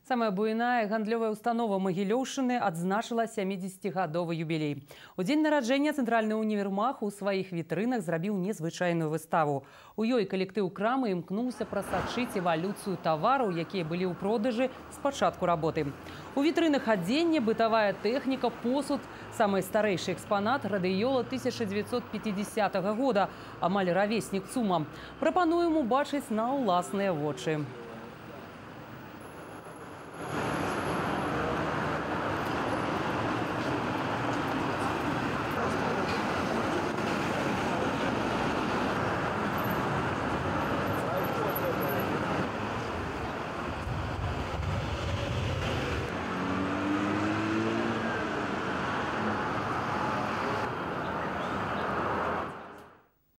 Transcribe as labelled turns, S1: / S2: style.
S1: Самая буйная гандлёвая установа Магілёўшчыны адзначыла 70-гадовы юбілей. У дзень нараджэння цэнтральны універмаг у сваіх вітрынах зрабіў незвычайную выставу. У ёй калектыў крамы імкнуўся прасачыць эвалюцыю тавараў, якія былі ў продажы з пачатку работы. У вітрынах адзенне, бытавая тэхніка, посуд. Самы старэйшы экспанат – радыёла 1950 года, амаль равеснік ЦУМа. Прапануем убачыць на ўласныя вочы.